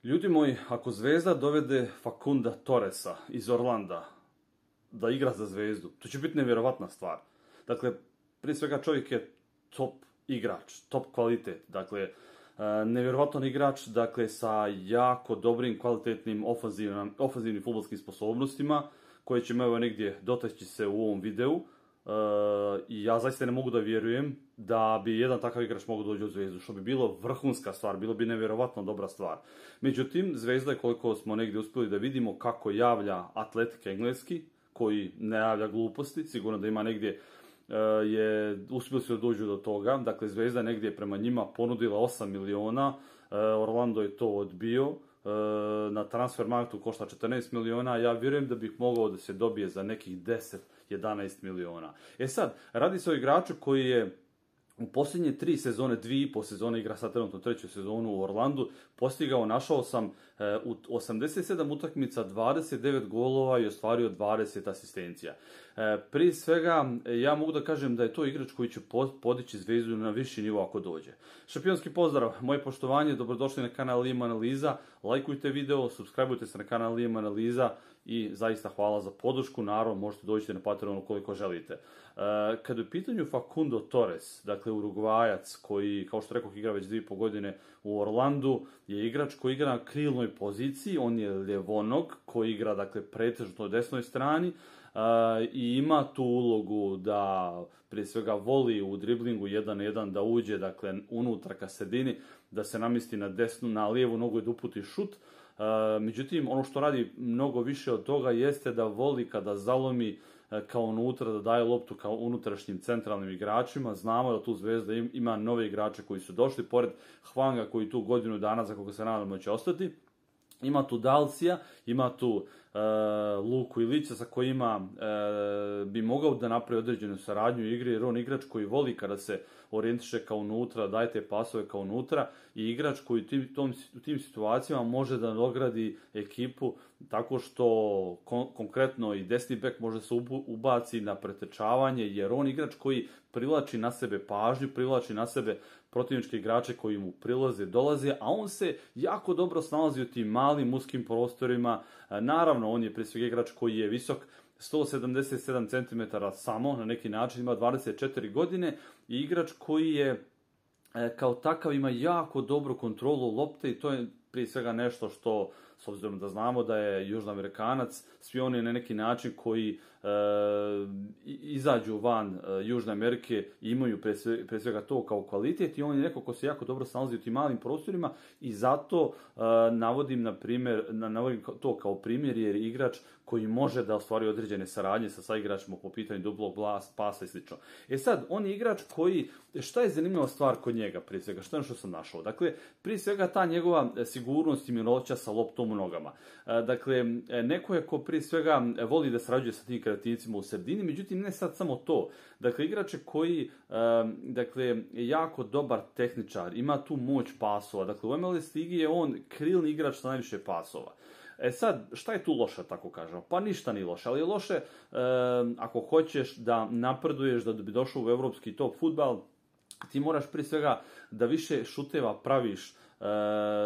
Ljudi moji, ako Zvezda dovede Facunda Torresa iz Orlanda da igra za Zvezdu, to će biti nevjerovatna stvar. Dakle, prije svega čovjek je top igrač, top kvalitet. Dakle, nevjerovatan igrač, dakle, sa jako dobrim, kvalitetnim ofenzivnim fudbalskim sposobnostima, koje ćemo evo negdje dotaći se u ovom videu. I ja zaista ne mogu da vjerujem da bi jedan takav igrač mogao doći u Zvezdu, što bi bilo vrhunska stvar, bilo bi nevjerovatno dobra stvar. Međutim, Zvezda je, koliko smo negdje uspjeli da vidimo kako javlja Atletik engleski, koji ne javlja gluposti, sigurno da ima negdje uspjeli su da dođu do toga. Dakle, Zvezda negdje prema njima ponudila 8 miliona, Orlando je to odbio, na Transfermarktu košta 14 miliona, ja vjerujem da bih mogao da se dobije za nekih 10-11 miliona. Sad, radi se o igraču koji je u posljednje 3 sezone, 2,5 sezone, igra sad trenutno 3. sezonu u Orlandu, postigao, našao sam u 87 utakmica 29 golova i ostvario 20 asistencija. Prije svega, ja mogu da kažem da je to igrač koji će podići Zvezdu na viši nivo ako dođe. Šampionski pozdrav, moje poštovanje, dobrodošli na kanal Liam Analiza, lajkujte video, subscribeujte se na kanal Liam Analiza i zaista hvala za podršku, naravno možete doći na Patreonu koliko želite. Kada je u pitanju Facundo Torres, dakle Urugvajac koji, kao što rekoh, igra već 2,5 godine u Orlandu, je igrač koji igra na krilnoj poziciji, on je ljevonog koji igra, dakle, pretežno na desnoj strani, i ima tu ulogu da prije svega voli u driblingu 1 na 1 da uđe, dakle, unutra ka sredini, da se namjesti na desnu, na lijevu nogu i da uputi šut. Međutim, ono što radi mnogo više od toga jeste da voli kada zalomi kao unutra, da daje loptu kao unutrašnjim centralnim igračima. Znamo da tu Zvezda ima nove igrače koji su došli, pored Hwanga koji tu godinu dana, za koga se nadamo će ostati. Ima tu Dalcija, ima tu Luku Ilića sa kojima bi mogao da napravi određenu saradnju u igri, jer on igrač koji voli kada se orijentiše kao unutra, daje te pasove kao unutra, i igrač koji u tim situacijama može da nagradi ekipu tako što konkretno i desni bek može se ubaci na pretečavanje, jer on igrač koji privlači na sebe pažnju, privlači na sebe protivničke igrače koji mu prilaze, dolaze, a on se jako dobro snalazi u tim malim, uskim prostorima. Naravno, on je prije svega igrač koji je visok 177 cm samo, na neki način ima 24 godine, i igrač koji je kao takav ima jako dobru kontrolu lopte, i to je prije svega nešto što, s obzirom da znamo da je Južnoamerikanac, svi oni na neki način koji izađu van Južne Amerike imaju prije svega to kao kvalitet, i on je neko ko se jako dobro snalazi u tim malim prostorima, i zato navodim to kao primjer, jer je igrač koji može da ostvari određene saradnje sa saigračima po pitanju dublog pasa i sl. Sad, on je igrač koji, šta je zanimljiva stvar kod njega prije svega, što je ono što sam našao? Dakle, prije svega ta njegova sigurnost i miroća sa loptom u nogama. Dakle, neko je ko prije svega voli da sarađuje sa tim kreativcima u sredini, međutim ne sad samo to. Dakle, igrač je koji je jako dobar tehničar, ima tu moć pasova. Dakle, u MLS ligi je on krilni igrač sa najviše pasova. Sad, šta je tu loše, tako kažemo? Pa ništa nije loše, ali je loše ako hoćeš da napreduješ, da bi došao u evropski top fudbal, ti moraš prije svega da više šuteva praviš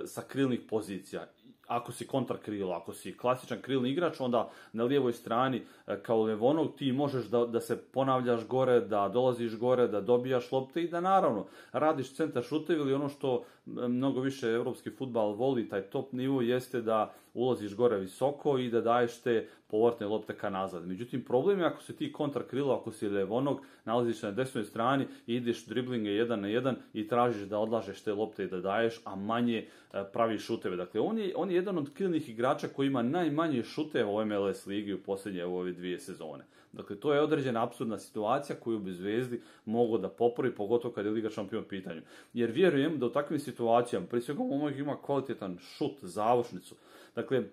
sa krilnih pozicija. Ako si kontra krilo, ako si klasičan krilni igrač, onda na lijevoj strani kao levonog ti možeš da se ponavljaš gore, da dolaziš gore, da dobijaš lopte i da naravno radiš centar šutev, ili ono što mnogo više evropski fudbal voli, taj top nivo, jeste da ulaziš gore visoko i da daješ te povratne lopte ka nazad. Međutim, problem je ako si ti kontra krilo, ako si levonog, nalaziš se na desnoj strani i ideš driblinge 1 na 1 i tražiš da odlažeš te lopte i da daješ, a manje praviš šuteve. Dakle, on je jedan od krilnih igrača koji ima najmanje šuteva u MLS ligi u posljednje ove 2 sezone. Dakle, to je određena apsurdna situacija koju bi Zvezdi mogao da popravi, pogotovo kad je Liga šampiona u pitanju. Jer vjerujem da u takvim situacijama, prije svega momak ima kvalitetan šut, završnicu. Dakle,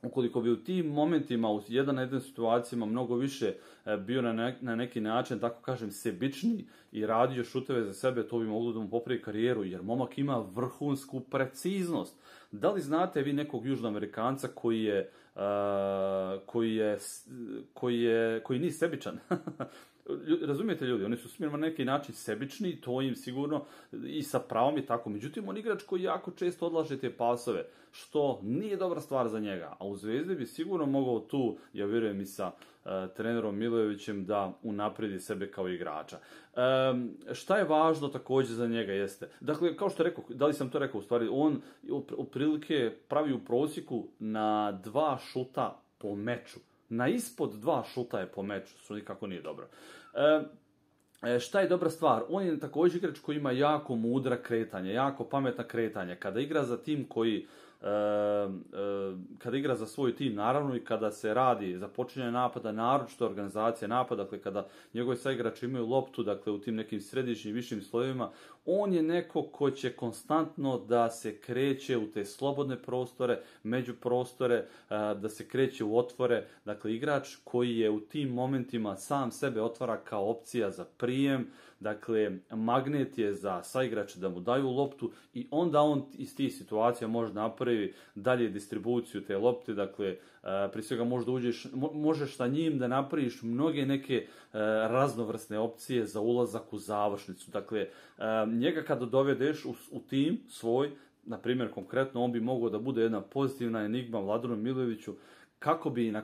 ukoliko bi u tim momentima, u 1 na 1 situacijama mnogo više bio na neki način, tako kažem, sebičniji i radio šuteve za sebe, to bi moglo da mu popravi karijeru, jer momak ima vrhunsku preciznost. Da li znate vi nekog Južnoamerikanca koji nije sebičan? razumijete ljudi, oni su smjerno na neki način sebični, to im sigurno i sa pravom i tako. Međutim, on igrač koji jako često odlaže te pasove, što nije dobra stvar za njega. A u Zvezdi bi sigurno mogao tu, ja vjerujem i sa trenerom Milojevićem, da unaprijedi sebe kao igrača. Šta je važno također za njega jeste, dakle, kao što rekao, da li sam to rekao u stvari, on otprilike pravi u prosjeku na 2 šuta po meču. Na ispod 2 šuta je po meču, što nikako nije dobro. Šta je dobra stvar? On je također igrač koji ima jako mudra kretanja, jako pametna kretanja. Kada igra za tim koji kada igra za svoj tim, naravno, i kada se radi za počinjanje napada, naročito organizacija napada, dakle kada njegovi saigrači imaju loptu, dakle u tim nekim središnjim višim slojevima, on je neko ko će konstantno da se kreće u te slobodne prostore, međuprostore, da se kreće u otvore, dakle igrač koji je u tim momentima sam sebe otvara kao opcija za prijem, dakle magnet je za saigrače da mu daju loptu i onda on iz tih situacija može napravi dalje distribuciju te lopte, dakle prije svega možeš sa njim da napraviš mnoge neke raznovrsne opcije za ulazak u završnicu. Dakle, njega kada dovedeš u tim svoj, na primjer konkretno, on bi mogao da bude jedna pozitivna enigma Vladanu Milojeviću, kako bi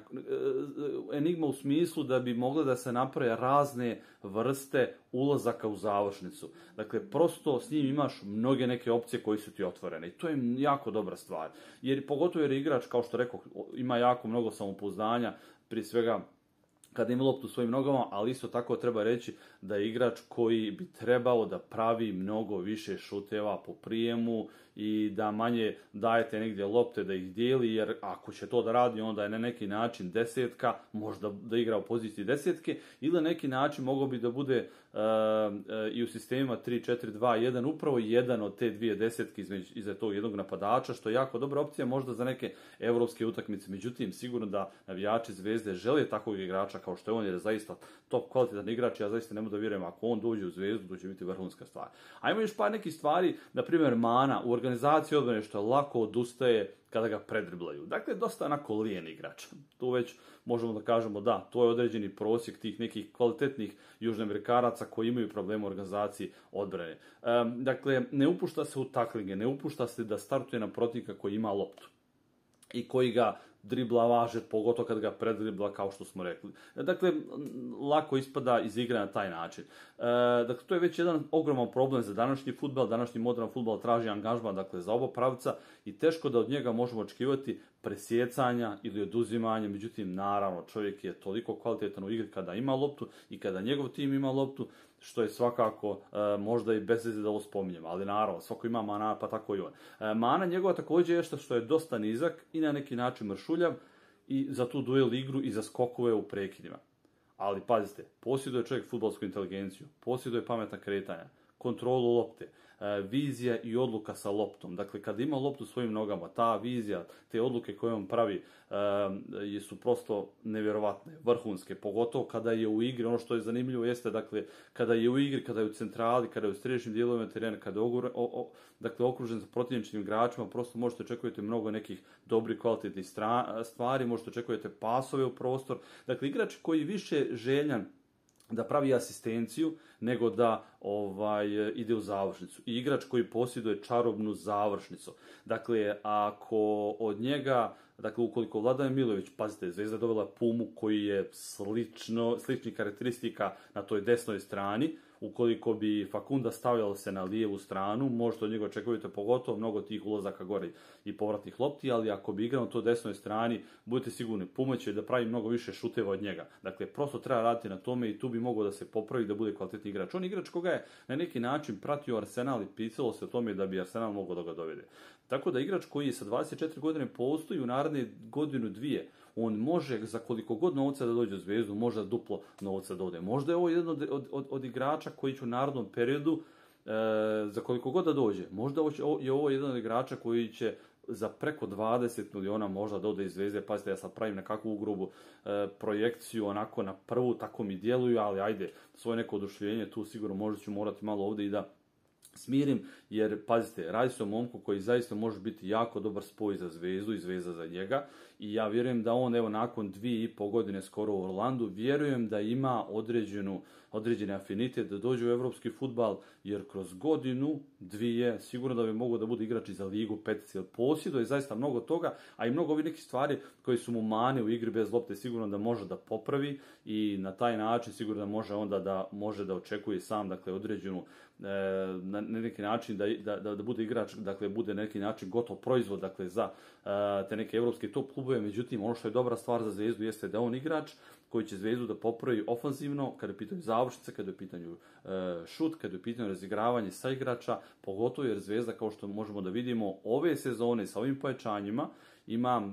enigma u smislu da bi mogle da se naprave razne vrste ulazaka u završnicu. Dakle, prosto s njim imaš mnoge neke opcije koje su ti otvorene i to je jako dobra stvar. Jer pogotovo jer igrač, kao što rekao, ima jako mnogo samopouzdanja, prije svega kada ima loptu u svojim nogama, ali isto tako treba reći da je igrač koji bi trebao da pravi mnogo više šuteva po prijemu i da manje dajete negdje lopte da ih dijeli, jer ako će to da radi, onda je na neki način desetka, možda da igra u poziciji desetke, ili na neki način mogao bi da bude i u sistemima 3-4-2-1, upravo jedan od te dvije desetke iza tog jednog napadača, što je jako dobra opcija možda za neke evropske utakmice. Međutim, sigurno da navijači Zvezde žele takvog igrača kao što je on, jer je zaista top kvalitetan igrač. Ja zaista ne mogu da vjerujem, ako on dođe u Zvezdu, to će biti vrhunska stvar. Ajmo još par nekih stvari, na primjer Mana u organizaciji odbrane, što lako odustaje kada ga predriblaju. Dakle, dosta onako lijen igrač. Tu već možemo da kažemo da, to je određeni prosjek tih nekih kvalitetnih južnoamerikanaca koji imaju problema u organizaciji odbrane. Dakle, ne upušta se u taklinge, ne upušta se da startuje na protivnika koji ima loptu i koji ga dribla važe, pogotovo kad ga predribla, kao što smo rekli. Dakle, lako ispada iz igre na taj način. Dakle, to je već jedan ogroman problem za današnji fudbal. Današnji modern fudbal traži angažman, dakle, za oba pravca i teško da od njega možemo očekivati presjecanja ili oduzimanja. Međutim, naravno, čovjek je toliko kvalitetan u igri kada ima loptu i kada njegov tim ima loptu, što je svakako možda i bez veze da ovo spominjem, ali naravno, svako ima Mana, pa tako i on. Mana njegova također je što je dosta nizak i na neki način mršuljav i za tu duel igru i za skokove u prekidima. Ali pazite, posjeduje čovjek fudbalsku inteligenciju, posjeduje pametna kretanja, kontrolu lopte, vizija i odluka sa loptom. Dakle, kada ima loptu svojim nogama, ta vizija, te odluke koje on pravi su prosto nevjerovatne, vrhunske, pogotovo kada je u igri. Ono što je zanimljivo jeste, dakle, kada je u igri, kada je u centrali, kada je u središnjim dijelovima terena, kada je okružen sa protivničkim igračima, prosto možete očekujete mnogo nekih dobrih, kvalitetnih stvari, možete očekujete pasove u prostor. Dakle, igrač koji više željan da pravi asistenciju, nego da ide u završnicu. I igrač koji posjeduje čarobnu završnicu. Dakle, ako od njega, dakle, ukoliko Vladan Milojević, pazite, Zvezda dovela Pumu koji je sličnih karakteristika na toj desnoj strani, ukoliko bi Fakunda stavljalo se na lijevu stranu, možete od njega očekujete pogotovo mnogo tih ulazaka gore i povratnih lopti, ali ako bi igrao na toj desnoj strani, budite sigurni, Puma će da pravi mnogo više šuteva od njega. Dakle, prosto treba raditi na tome i tu bi mogao da se popravi, da bude kvalitetni igrač. On je igrač koga je na neki način pratio Arsenal i pisalo se o tome da bi Arsenal mogao da ga dovede. Tako da igrač koji je sa 24 godine postoji u naredne godinu dvije, on može za koliko god novca da dođe u Zvezdu, možda duplo novca da ode. Možda je ovo jedan od igrača koji će u narednom periodu, za koliko god da dođe, možda je ovo jedan od igrača koji će za preko 20 miliona možda da ode iz Zvezde. Pazite, ja sad pravim nekakvu grubu projekciju, onako na prvu, tako mi djeluju, ali ajde, svoje neko oduševljenje tu sigurno možda ću morati malo ovdje i da smirim, jer pazite, radi se o momku koji zaista može biti jako dobar spoj za Zvezdu i Zvezda za njega i ja vjerujem da on evo nakon 2,5 godine skoro u Orlandu, vjerujem da ima određeni afinitet da dođe u evropski fudbal, jer kroz godinu, dvije, sigurno da bi mogao da bude igrač i za ligu, petici, jer posjeduje zaista mnogo toga, a i mnogo ovih nekih stvari koji su mu mane u igri bez lopte, sigurno da može da popravi i na taj način sigurno da može onda da može da očekuje sam, dakle, određenu na neki način da bude igrač, dakle bude na neki način gotov proizvod, dakle za te neke evropske top klubove. Međutim, ono što je dobra stvar za Zvezdu jeste da on igrač koji će Zvezdu da popravi ofanzivno kada je u pitanju završnice, kada je u pitanju šut, kada je u pitanju razigravanje sa igrača, pogotovo jer Zvezda, kao što možemo da vidimo, ove sezone sa ovim pojačanjima ima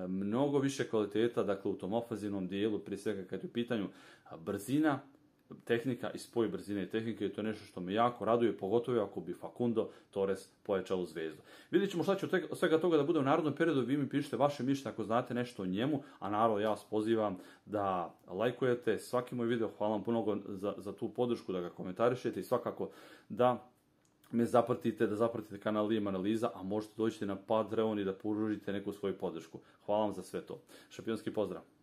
mnogo više kvaliteta, dakle u tom ofanzivnom dijelu, prije svega kada je u pitanju brzina, tehnika i spoj brzine i tehnike, i to je nešto što me jako raduje, pogotovo ako bi Facundo Torres pojačao u Zvezdu. Vidjet ćemo šta će od svega toga da bude u narodnom periodu, vi mi pišite vaše mišljenje ako znate nešto o njemu, a naravno ja vas pozivam da lajkujete svaki moj video, hvala vam puno za tu podršku, da ga komentarišete i svakako da me zapratite, da zapratite kanal Liam Analiza, a možete doći na Patreon i da pružite neku svoju podršku. Hvala vam za sve to. Šampionski pozdrav!